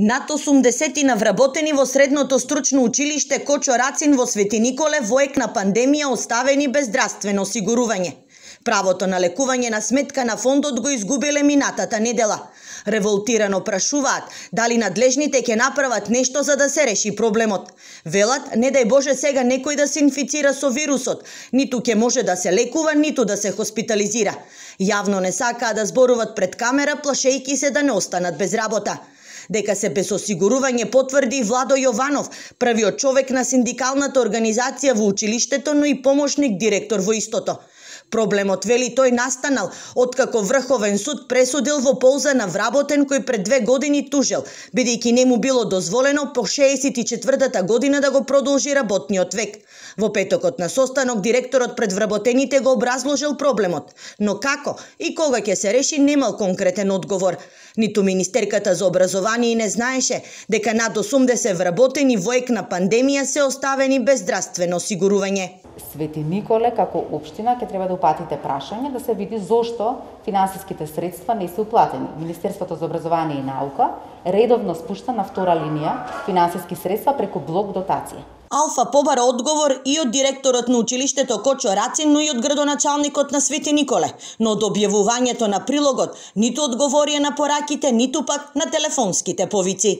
Над 80 на вработени во средното стручно училиште Кочо Рацин во Свети Николе во ек на пандемија оставени без здравствено осигурување. Правото на лекување на сметка на фондот го изгубиле минатата недела. Револтирано прашуваат дали надлежните ќе направат нешто за да се реши проблемот. Велат, не дај Боже сега некој да се инфицира со вирусот, ниту ќе може да се лекува, ниту да се хоспитализира. Јавно не сакаат да зборуваат пред камера, плашејки се да не останат без работа. Дека се без осигурување потврди Владо Јованов, првиот човек на синдикалната организација во училиштето, но и помошник директор во истото. Проблемот, вели тој, настанал откако Врховен суд пресудил во полза на вработен кој пред 2 години тужел, бидејќи не му било дозволено по 64-та година да го продолжи работниот век. Во петокот на состанок директорот пред вработените го образложил проблемот, но како и кога ќе се реши немал конкретен одговор. Ниту министерката за образование не знаеше дека над 80 вработени во ек на пандемија се оставени без здравствено осигурување. Свети Николе како општина ќе треба да упатите прашање да се види зошто финансиските средства не се уплатени. Министерството за образование и наука редовно спушта на втора линија финансиски средства преку блок дотација. Алфа побара одговор и од директорот на училиштето Кочо Рацин, но и од градоначалникот на Свети Николе, но од објавувањето на прилогот ниту одговорија на пораките, ниту пак на телефонските повици.